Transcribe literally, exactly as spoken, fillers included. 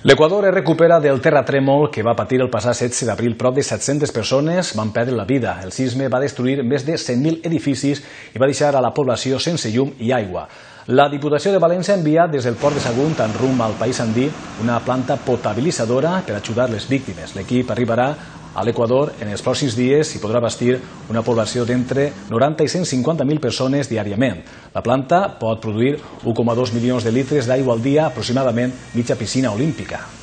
L'Equador es recupera del terratrèmol que va patir el passat setze d'abril. Prop de set-centes persones van perdre la vida. El sisme va destruir més de cent mil edificis i va deixar a la població sense llum i aigua. La Diputació de València ha enviat des del port de Sagunt en rumb al país andí una planta potabilitzadora per ajudar les víctimes. L'equip arribarà a l'Equador en els pròxims dies i podrà abastir una població d'entre noranta i cent cinquanta mil persones diàriament. La planta pot produir u coma dos milions de litres d'aigua al dia, aproximadament mitja piscina olímpica.